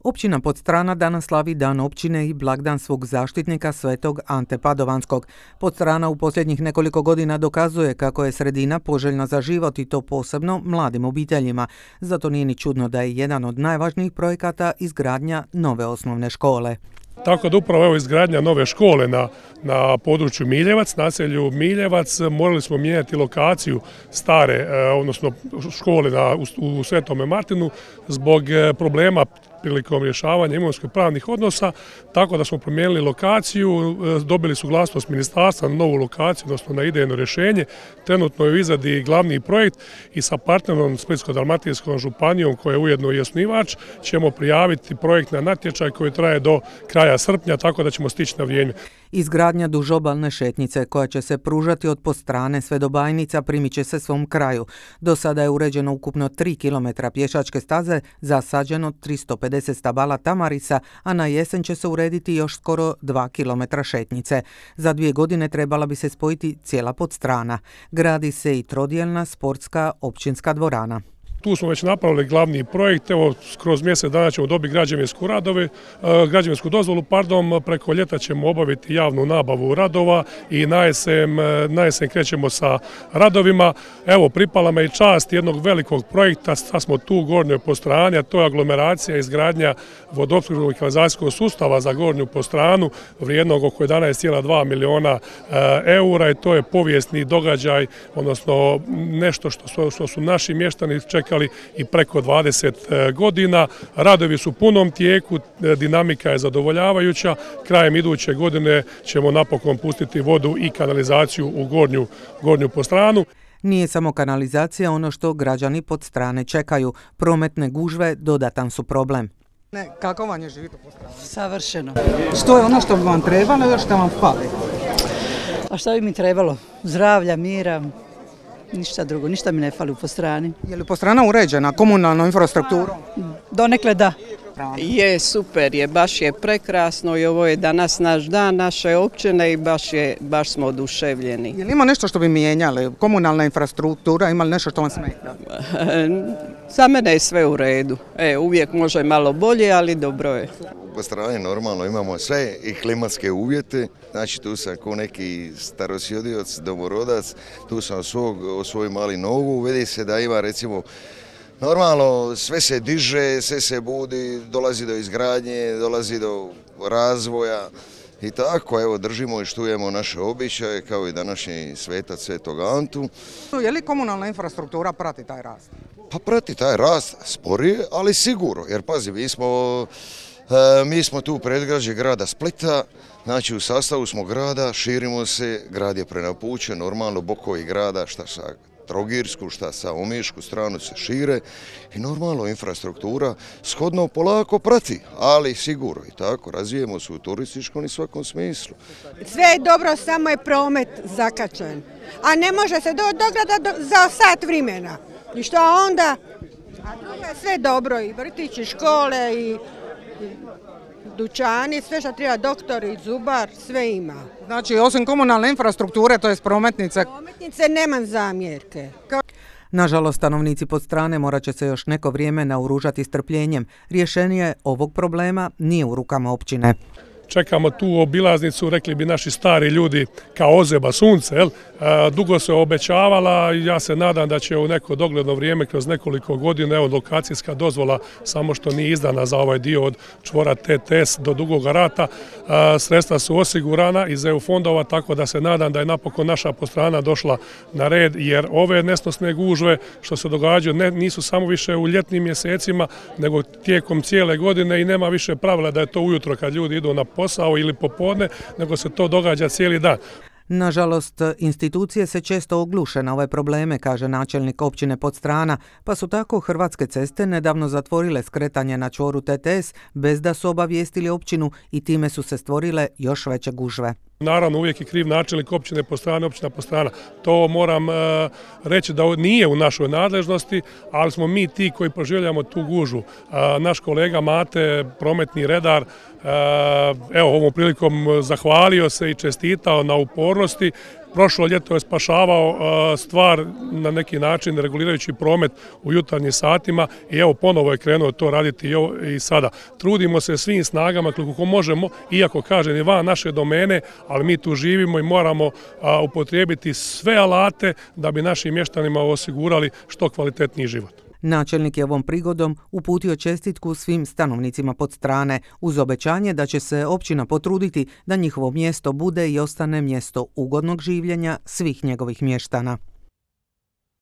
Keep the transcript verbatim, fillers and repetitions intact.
Općina Podstrana danas slavi Dan općine i blagdan svog zaštitnika svetog Ante Padovanskog. Podstrana u posljednjih nekoliko godina dokazuje kako je sredina poželjna za život i to posebno mladim obiteljima. Zato nije ni čudno da je jedan od najvažnijih projekata izgradnja nove osnovne škole. Tako da upravo evo izgradnja nove škole na, na području Miljevac, naselju Miljevac, morali smo mijenjati lokaciju stare, eh, odnosno škole na, u, u Svetome Martinu zbog eh, problema prilikom rješavanja imovinsko-pravnih odnosa, tako da smo promijenili lokaciju, dobili suglasnost ministarstva na novu lokaciju, odnosno na idejno rješenje. Trenutno je u izradi glavni projekt i sa partnerom Splitsko-dalmatinskom županijom, koja je ujedno i osnivač, ćemo prijaviti projekt na natječaj koji traje do kraja srpnja, tako da ćemo stići na vrijeme. Izgradnja dužobalne šetnice koja će se pružati od Podstrane sve do Bajnica primit će se svom kraju. Do sada je uređeno ukupno tri kilometra pješačke staze, zasađeno tristo pedeset stabala tamarisa, a na jesen će se urediti još skoro dva kilometra šetnice. Za dvije godine trebala bi se spojiti cijela Podstrana. Gradi se i trodjelna sportska općinska dvorana. Tu smo već napravili glavni projekt, evo kroz mjesec dana ćemo dobiti građevinsku radove, građevinsku dozvolu, pardon, preko ljeta ćemo obaviti javnu nabavu radova i na jesen, na jesen krećemo sa radovima. Evo, pripala me i čast jednog velikog projekta, sad smo tu u Gornjoj Podstrani, a to je aglomeracija izgradnja vodoopskrbnog i kanalizacijskog sustava za Gornju Podstranu, vrijednog oko jedanaest zarez dva miliona eura i to je povijesni događaj, odnosno nešto što su, što su naši mještani čekali i preko dvadeset godina. Radovi su u punom tijeku, dinamika je zadovoljavajuća. Krajem iduće godine ćemo napokon pustiti vodu i kanalizaciju u Gornju, Gornju Podstranu. Nije samo kanalizacija ono što građani Podstrane čekaju. Prometne gužve dodatan su problem. Ne, kako vam je živjeti u Podstrani? Savršeno. Što je ono što bi vam trebalo i što vam fali? A što bi mi trebalo? Zdravlja, mira, ništa drugo, ništa mi ne fali u Podstrani. Je li Podstrana uređena komunalnom infrastrukturom? Donekle da. Je, super je, baš je prekrasno i ovo je danas naš dan naše općine i baš, je, baš smo oduševljeni. Je li ima nešto što bi mijenjali? Komunalna infrastruktura, ima li nešto što vam smeta? Za mene je sve u redu. E, uvijek može malo bolje, ali dobro je. U Podstrani normalno imamo sve i klimatske uvjete, znači tu sam ko neki starosjedioc, domorodac, tu sam svog, svoj mali nogu, vidi se da ima recimo normalno sve se diže, sve se budi, dolazi do izgradnje, dolazi do razvoja i tako, evo držimo i štujemo naše običaje kao i današnji svetac Svetog Antu. Je li komunalna infrastruktura prati taj rast? Pa prati taj rast sporije, ali sigurno, jer pazi, mi smo... Mi smo tu u predgrađe grada Splita, znači u sastavu smo grada, širimo se, grad je prenapučen, normalno bokovi grada, šta sa Trogirsku, šta sa Omišku stranu se šire i normalno infrastruktura shodno polako prati, ali sigurno i tako, razvijemo se u turističkom i svakom smislu. Sve je dobro, samo je promet zakačen, a ne može se do, do grada do, za sat vremena. I što onda? A drugo je sve dobro, i vrtići, škole, i dućani, sve što treba, doktori, zubar, sve ima. Znači, osim komunalne infrastrukture, to je prometnice? Prometnice nemam zamjerke. Nažalost, stanovnici Podstrane morat će se još neko vrijeme naoružati strpljenjem. Rješenje ovog problema nije u rukama općine. Čekamo tu obilaznicu, rekli bi naši stari ljudi, kao ozeba sunce. Jel? Dugo se obećavala i ja se nadam da će u neko dogledno vrijeme, kroz nekoliko godina, evo lokacijska dozvola, samo što nije izdana za ovaj dio od čvora T T S do Dugog Rata, sredstva su osigurana iz E U fondova, tako da se nadam da je napokon naša Podstrana došla na red, jer ove nesnosne gužve što se događaju ne, nisu samo više u ljetnim mjesecima, nego tijekom cijele godine i nema više pravila da je to ujutro kad ljudi idu na posao ili popodne, nego se to događa cijeli dan. Nažalost, institucije se često ogluše na ove probleme, kaže načelnik općine Podstrana, pa su tako Hrvatske ceste nedavno zatvorile skretanje na čvoru T T S bez da su obavijestili općinu i time su se stvorile još veće gužve. Naravno, uvijek je kriv načelnik općine Podstrana, općina Podstrana. To moram uh, reći da nije u našoj nadležnosti, ali smo mi ti koji proživljamo tu gužu. Uh, naš kolega Mate, prometni redar, uh, evo ovom prilikom zahvalio se i čestitao na upornosti. Prošlo ljeto je spašavao stvar na neki način regulirajući promet u jutarnjim satima i evo ponovo je krenuo to raditi i sada. Trudimo se svim snagama koliko možemo, iako kažem i van naše domene, ali mi tu živimo i moramo upotrijebiti sve alate da bi našim mještanima osigurali što kvalitetniji život. Načelnik je ovom prigodom uputio čestitku svim stanovnicima Podstrane uz obećanje da će se općina potruditi da njihovo mjesto bude i ostane mjesto ugodnog življenja svih njegovih mještana.